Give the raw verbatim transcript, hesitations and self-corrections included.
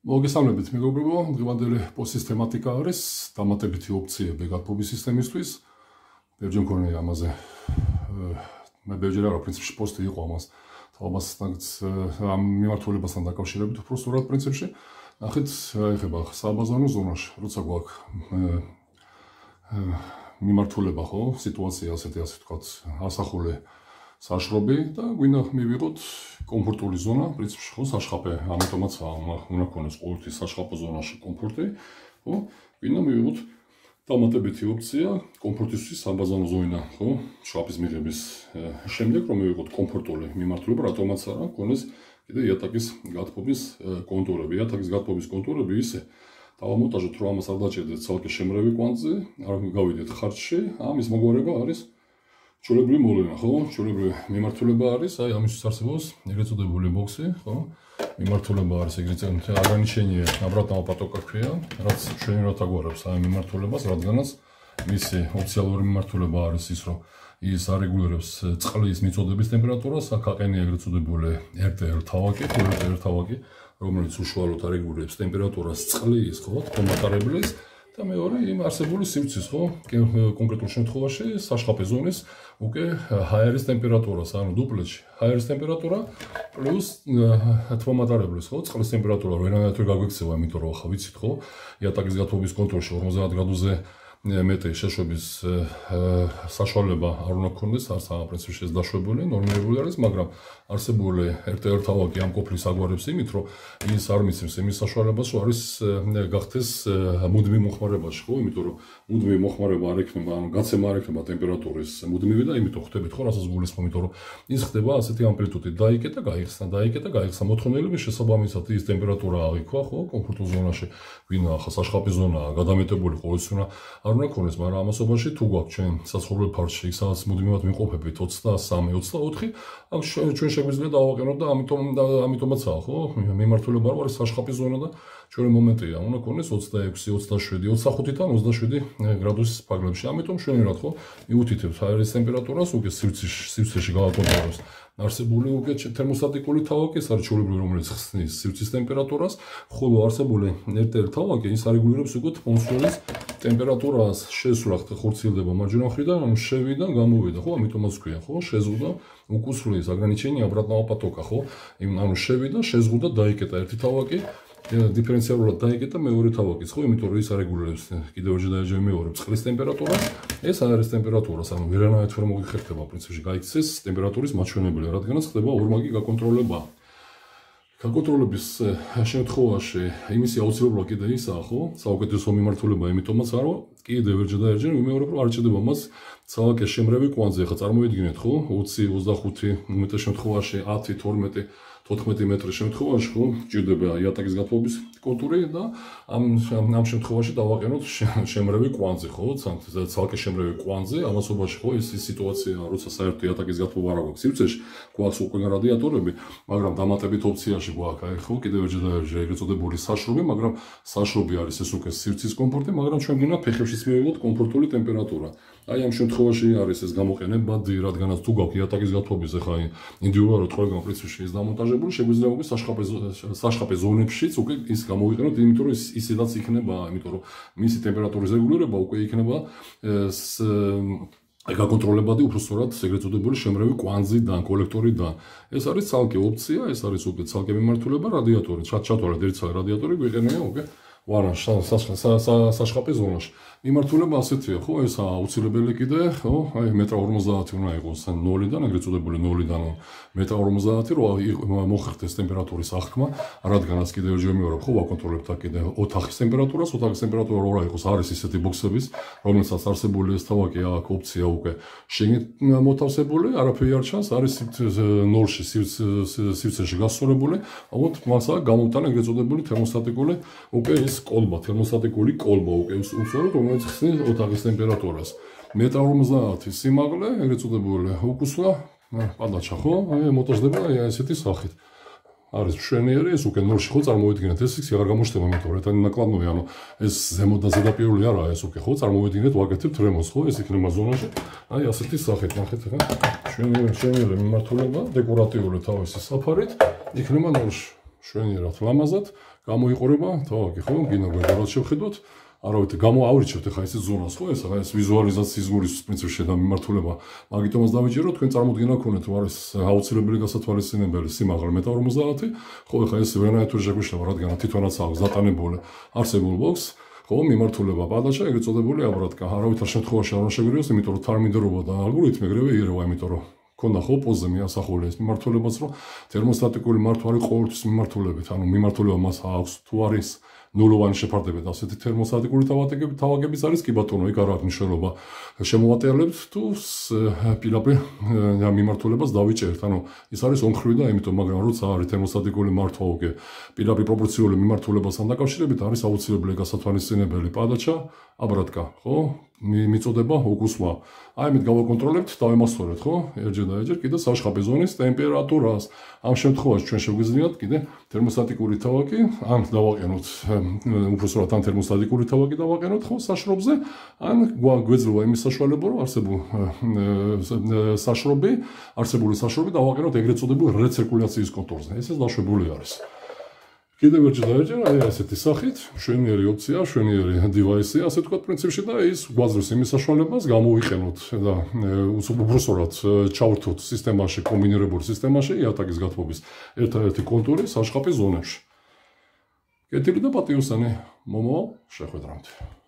მოგესალმებით მეგობრებო, დღევანდელი პოსტსისტემატიკა არის დამატებითი ოპციები გათბობის სისტემისთვის. ბევრი მქონია ამაზე. მე ბევრი რა პრინციპში პოსტი იყო ამას. თამასთან ამ მიმართულებასთან დაკავშირებით უფრო სწორად პრინციპში. ნახეთ, ეხება საბაზარო ზონაში, როცა გვაქვს მიმართულება ხო, სიტუაცია ასეთი ასე ვთქვათ, ასახული საშრობი და გვინდა მივიღოთ კომფორტული ზონა, პრინციპში ხო, საშხაპე, ამიტომაც უნდა ქონდეს ყოველთვის საშხაპო ზონაში კომფორტი, ხო? გვინდა მივიღოთ დამატებითი ოპცია კომფორტისთვის საბაზარო ზონიდან, ხო? შხაპის მიღების შემდეგ რომ მივიღოთ კომფორტული მიმართულება, რატომაც არა, ქონდეს კიდე იატაკის გათბობის კონტურები. იატაკის გათბობის კონტურები ისე დავამონტაჟოთ, რომ ამას არ დაჭერდეთ ცალკე შემრევი კვანძი, არ გავიდეთ ხარჯში, ამის მოგვარება არის ჩვეულებრივი მოვლენა, ხო? ჩვეულებრივი მიმართულება არის, აი ამისთვის არსებობს ეგრეთ წოდებული ბოქსი, ხო? მიმართულება არის ეგრეთ წოდებული ограничение обратного потока ქვია, რაც ჩვენებრივად აგვარებს აი მიმართულებას, რადგანაც მისი ოფიციალური მიმართულება არის ის, რომ ის არეგულირებს წყლის მიწოდების ტემპერატურას, აქ აყენია ეგრეთ წოდებული ერთ ტე ელ თავაკი, ერთ ტე ელ თავაკი, რომელიც უშუალოდ არეგულირებს ტემპერატურას წყლის, ხო, თქომატარებლის და მეორე იმ არსებული სივრცის, ხო, კონკრეტულ შემთხვევაში საშხაპე ზონის უკვე ჰაერის ტემპერატურას, ანუ დუპლეტში ჰაერის ტემპერატურა პლუს თქომატარებლის, ხო, წყლის ტემპერატურა ვერანაირად ვერ გაგვექცევა, იმიტომ რომ ახლა ვიცით, ხო, იატაკის გათბობის კონტროლში ორმოცდაათ გრადუსზე მეტი შეშვების საშუალება არ უნდა გქონდეს, არც ამ პრინციპში ეს დაშვებული, ნორმირებული არის, მაგრამ არსებული ერთ ტე ელ თავაკი ამ ყოფლის აგვარებს იმით, რომ ის არ მიცემს იმის საშუალებას, რომ არის გახდეს მუდმივ მოხმარებაში, ხო, იმიტომ რომ მუდმივი მოხმარება არ ექნება, ანუ გაცემა არ ექნება ტემპერატურის მუდმივი და იმიტომ ხდებით, ხო, რასაც გულისხმობ, იმიტომ რომ ის ხდება ასეთი ამპლიტუდით დაიკეტა, გაიხსნა, დაიკეტა, გაიხსნა მოთხოვნილების შესაბამისად ის ტემპერატურა აღიქვა, ხო, კომფორტულ ზონაში, ვინა ახლა საშხაპი ზონაა, გადამეტებული ყოველთვის უნდა არ უნდა ქონდეს, მაგრამ ამასობაში თუ გვაქვს ჩვენ საცხოვრებელ ფარშში, იქ სადაც მუდმივად ვიმყოფებით ოცდასამი ოცდაოთხი, აქ ჩვენ შეგვიძლია დავაყენოთ და ამიტომ ამიტომაცაა, ხო? მიმართულება რა არის საშხაპის ზონა და ჩვენი მომენტია, უნდა ქონდეს ოცდაექვსი, ოცდაშვიდი, ოცდახუთიდან ოცდაშვიდი გრადუსის ფარგლებში. ამიტომ ჩვენერად ხო მიუთითებთ ჰაერის ტემპერატურას, უკვე სივრცეში, სივრცეში გავაკონტროლებს არსებული უკვე თერმოსტატიკური თავაკი, ეს არის ჩვეულებრივი, რომელიც ხსნის სივრცის ტემპერატურას, ხოლო არსებული ერთ ტე ელ თავაკი ის არეგულირებს უკვე ატმოსფეროს ტემპერატურას, შესვლახ ხორციელდება მარჯვენა მხრიდან, ანუ შევიდა, გამოვიდა, ხო, ამიტომაც ქვია, ხო, შეზღუდა უკუსრულის ограничение обратного потока, ხო, ანუ შევიდა, შეზღუდა, დაიკეტა ერთი თავაკი, დიფერენციალურად დაიკეტა მეორე თავაკიც, ხო, იმიტომ რომ ის არეგულირებს კიდევ ორჯერ და ერთხელ მეორებს წყლის ტემპერატურას, ეს არის ტემპერატურას, ანუ ვერანაირად ვერ მოგიხერხდება პრინციპში გაიქცეს ტემპერატურის მაჩვენებელი, რადგანაც ხდება ორმაგი გაკონტროლება. გაკონტროლების შემთხვევაში იმისი აუცილებლობა კიდე ისაა, ხო, საუკეთესო მიმართულება, იმიტომაც არა, კიდევ ერჯერ და ერჯერ ვიმეორებ, რომ არ ჭირდება მას ცალკე შემრევი კვანძი, ახლა წარმოვიდგინეთ, ხო, ოცი, ოცდახუთი უმეტეს შემთხვევაში ათი, თორმეტი, თოთხმეტი მეტრის შემთხვევაში, ხო, ჭირდება იატაკის გათბობის კონტური და ამ ამ შემთხვევაში დავაყენოთ შემრევი კვანძი, ხო, ცალკე შემრევი კვანძი, ამასობაში, ხო, ეს ის სიტუაცია, როცა საერთოდ იატაკის გათბობა არ აქვს სივრცეში, გვაქვს უკვე რადიატორები, მაგრამ დამატებით ოპციაში გვაქვს, აი, ხო, კიდევ ერჯერ და ერჯერ ეგრეთ წოდებული საშრობი, მაგრამ საშრობი არის ეს უკვე სივრცის კომფორტი, მაგრამ ჩვენ გვინდა ფეხებშიც მივიღოთ კომფორტული ტემპერატურა. აი ამ შემთხვევაში არის ეს გამოყენებადი, რადგანაც თუ გვაქვს იატაკის გათბობის ახლა ინდივიდუალურად ყველგან პრინციპში ის დამონტაჟებული, შეგვიძლია უკვე საშხაპე საშხაპე ზონებშიც უკვე ის გამოვიყენოთ, იმიტომ რომ ის ისედაც იქნება, იმიტომ რომ მისი ტემპერატურის რეგულირება უკვე იქნება გაკონტროლებადი უფრო სწორად ეგრეთ წოდებული შემრევი კვანძიდან, კოლექტორიდან. ეს არის ცალკე ოპცია, ეს არის უკვე ცალკე მიმართულება, რადიატორი, ჩათვალეთ ერთი ცალკე რადიატორი გვიყენია უკვე ვარანში, საშხაპე ზონაში. მიმართულება ასეთია, ხო, ეს აუცილებელი კიდე, ხო, აი მეტრ ორმოცდაათი უნდა იყოს ნოლიდან, ეგრეთ წოდებული ნოლიდან მეტრ ორმოცდაათი, რომ მოხერხდეს ტემპერატურის აღქმა, რადგანაც კიდევ ერჯერ მეორე, ხო, ვაკონტროლებთ აქ კიდე ოთახის ტემპერატურას, ოთახის ტემპერატურა რა იყოს, არის ისეთი ბოქსების, რომელსაც არსებული ეს თავაკი აქ ოპცია უკვე შეგნით მოთავსებული, არაფერი არ ჩანს, არის ნოლში სივრცეში გასწორებული, ალბათ მას აქ გამოვტანა ეგრეთ წოდებული თერმოსტატიკური უკვე ის კოლბა, თერმოსტატიკური კოლბა უკვე უსწოროდ, რომელიც ხსნის ოთახის ტემპერატურას. მეტრ ორმოცდაათი სიმაღლე, ეგრეთ წოდებული უკუსლა, პადაჩა, ხო, აი მოტოჟდება აი ესეთი სახით. არის მშვენიერი, ეს უკვე ნოლში ხო წარმოვიდგინეთ, ეს ის აღარ გამოჩნდება, იმიტომ რომ ერთანი ნაკლანოვი, ანუ ეს ზემო და ზედაპირული არაა, ეს უკვე ხო წარმოვიდგინეთ, ვაკეთებთ რემონტს, ხო, ეს იქნება ზონაში. აი ასეთი სახით, ნახეთ ახლა. მშვენიერი, მშვენიერი მიმართულება, დეკორატიული თავისი საფარით, იქნება ნოლში. შვენიერად ლამაზად, გამოიყურება თავი, ხო? გინდა გვერდად შევხედოთ. არავითარ გამოავრიჩევთ ახლა ეს ზონას, ხო? ეს ახლა ეს ვიზუალიზაციის გულის პრინციპში და მიმართულება. მაგიტომაც დავიჯეროთ, თქვენ წარმოდგენა გქონდეთ, თუ არის აუცილებელი გასათვალისწინებელი სიმაღლე მეტრი ორმოცდაათი, ხო? ახლა ეს ვერანაირად შეგვიშლება, რადგან თვითონაც აქვს დატანებული არსებულ ბოქს. ხო, მიმართულება პადაჩა, ეგრეთ წოდებული აბრატკა. არავითარ შემთხვევაში არ უნდა შეგვირიოს, იმიტომ რომ თარმინდრობა და ალგორითმი ეგრევე იერევა, იმიტომ რომ ქონდა ხო პოზე მიასახული ეს მიმართულებაც, რომ თერმოსტატიკური მართვა არის ყოველთვის მიმართულებით, ანუ მიმართულება მას აქვს თუ არის ნულოვანი შეფარდებით ასეთი თერმოსტატიკური თავაკები თავაკების არის კი ბატონო, იქ არ აქვს მნიშვნელობა. შემოვატელებთ თუ პირდაპირ მიმართულებას დავიჭერთ, ანუ ის არის ომხრივი და იმიტომ, მაგრამ როცა არის თერმოსტატიკური მართვა უკვე პირდაპირ პროპორციული მიმართულებასთან დაკავშირებით არის აუცილებელი გასათვალისწინებელი პადაჩა, აბრატკა, ხო? მიწოდება უკუსვა. აი ამით გავაკონტროლებთ, დავემასწორეთ, ხო? ერჯერ და ერჯერ კიდე საშხაპი ზონის ტემპერატურას. ამ შემთხვევაში ჩვენ შეგვიძლიათ კიდე თერმოსტატიკური თავაკი, ან დავაყენოთ უბრალოდ ან თერმოსტატიკური თავაკი დავაყენოთ, ხო, საშრობზე, ან გვეძლევა იმის საშუალება, რომ არსებულ საშრობი, არსებული საშრობი დავაყენოთ ეგრეთ წოდებულ რეცირკულაციის კონტურზე. ესეც დაშვებული არის. კიდევ ერჯერ და ერჯერ აი ასეთი სახით, მშვენიერი ოპცია, მშვენიერი დივაისი, ასე ვთქვათ პრინციპში და ის გვაძლევს იმის საშუალებას გამოვიყენოთ და უბრალოდ ჩავრთოთ სისტემაში, კომბინირებული სისტემაში იატაკის გათბობის ერთადერთი კონტური საშხაპის ზონებში. კეთილი და პატიოსანი მომავალ შეხვედრამდე.